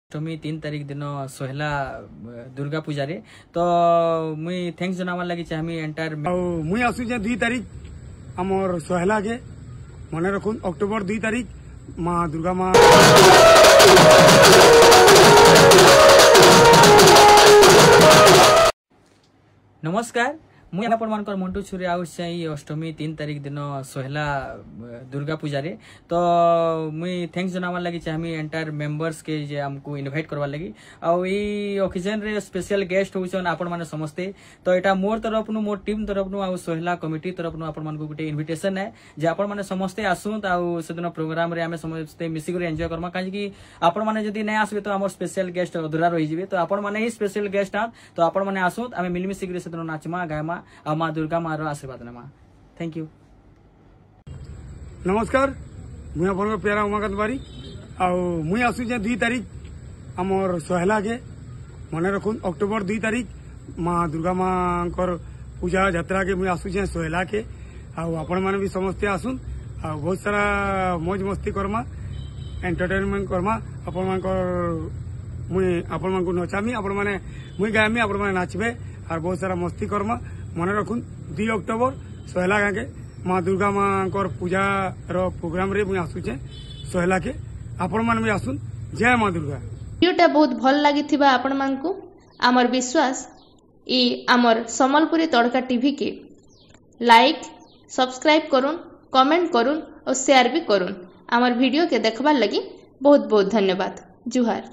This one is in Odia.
ଅଷ୍ଟମୀ 3 ତାରିଖ ଦିନ ସୋହେଲା ଦୁର୍ଗା ପୂଜାରେ ତ ମୁଇଁ thanks ଜଣାବାର ଲାଗି ଚାହିଁମି ଏଣ୍ଟାୟାର। ଆଉ ମୁଇଁ ଆସୁଛେ 2 ତାରିଖ ଆମର ସହେଲାକେ, ମନେ ରଖୁନ୍, ଅକ୍ଟୋବର 2 ତାରିଖ ମା ଦୁର୍ଗା ମା। ନମସ୍କାର, ମୁଇଁ ଆପଣମାନଙ୍କର ମଣ୍ଟୁ ଛୁରୀ ଆସୁଛେ ଏଇ ଅଷ୍ଟମୀ 3 ତାରିଖ ଦିନ ସୋହେଲା ଦୁର୍ଗା ପୂଜାରେ। ତ ମୁଇଁ thanks ଜଣାବାର ଲାଗି ଚାହିଁମି ଏଣ୍ଟାୟାର ମେମ୍ବର୍ସକେ ଯେ ଆମକୁ ଇନଭାଇଟ୍ କରବାର ଲାଗି, ଆଉ ଏଇ ଅକେଜନରେ ସ୍ପେଶାଲ ଗେଷ୍ଟ ହଉଛନ୍ ଆପଣମାନେ ସମସ୍ତେ। ତ ଏଇଟା ମୋର ତରଫନୁ, ମୋର ଟିମ୍ ତରଫନୁ ଆଉ ସୋହେଲା କମିଟି ତରଫନୁ ଆପଣମାନଙ୍କୁ ଗୋଟେ ଇନଭିଟେସନ ହେ ଯେ ଆପଣମାନେ ସମସ୍ତେ ଆସୁନ୍ ଆଉ ସେଦିନ ପ୍ରୋଗ୍ରାମରେ ଆମେ ସମସ୍ତେ ମିଶିକରି ଏନ୍ଜୟ କର୍ମା। କାହିଁକି ଆପଣମାନେ ଯଦି ନାଇଁ ଆସିବେ ତ ଆମର ସ୍ପେଶାଲ ଗେଷ୍ଟ ଅଧୁରା ରହିଯିବେ। ତ ଆପଣମାନେ ହିଁ ସ୍ପେଶାଲ ଗେଷ୍ଟ ଆନ୍, ତ ଆପଣମାନେ ଆସୁନ୍, ଆମେ ମିଳିମିଶିକରି ସେଦିନ ନାଚମା, ଗାଏମା ଆଉ ମା ଦୁର୍ଗା ମାର ଆଶୀର୍ବାଦ ନେମା। Thank you. ନମସ୍କାର, ମୁଇଁ ଆପଣଙ୍କ ପ୍ୟାରା ଉମାକାନ୍ତ ବାରିକ, ଆଉ ମୁଇଁ ଆସୁଛେ 2 ତାରିଖ ଆମର ସହେଲାକେ। ମନେ ରଖୁନ୍, ଅକ୍ଟୋବର 2 ତାରିଖ ମା ଦୁର୍ଗା ମାଙ୍କର ପୂଜା ଯାତ୍ରାକେ ମୁଇଁ ଆସୁଛେ ସହେଲାକେ, ଆଉ ଆପଣମାନେ ବି ସମସ୍ତେ ଆସୁନ୍ ଆଉ ବହୁତ ସାରା ମୌଜ ମସ୍ତି କର୍ମା, ଏଣ୍ଟରଟେନମେଣ୍ଟ କର୍ମା। ଆପଣମାନଙ୍କର ମୁଇଁ ଆପଣମାନଙ୍କୁ ନଚାମି, ଆପଣମାନେ ମୁଇଁ ଗାଏମି, ଆପଣମାନେ ନାଚବେ আর ବହୁତ ସାରା ମସ୍ତି କର୍ମା। ମନେ ରଖୁନ୍, 2 ଅକ୍ଟୋବର ସହେଲା ଗାଁକେ ମା ଦୁର୍ଗା ମାଙ୍କର ପୂଜାର ପ୍ରୋଗ୍ରାମରେ ମୁଇଁ ଆସୁଛେ ସହେଲାକେ, ଆପଣମାନେ ବି ଆସୁନ୍। ଜୟ ମା ଦୁର୍ଗା। ଭିଡ଼ିଓଟା ବହୁତ ଭଲ ଲାଗିଥିବା ଆପଣମାନଙ୍କୁ ଆମର ବିଶ୍ୱାସ। ଇ ଆମର ସମ୍ବଲପୁରୀ ତଡ଼କା ଟିଭି କେ ଲାଇକ୍, ସବସ୍କ୍ରାଇବ କରୁନ୍, କମେଣ୍ଟ କରୁନ୍ और शेयर भी କରୁନ୍। ଆମର ଭିଡ଼ିଓ କେ ଦେଖବାର ଲାଗି ବହୁତ ବହୁତ ଧନ୍ୟବାଦ। ଜୁହାର।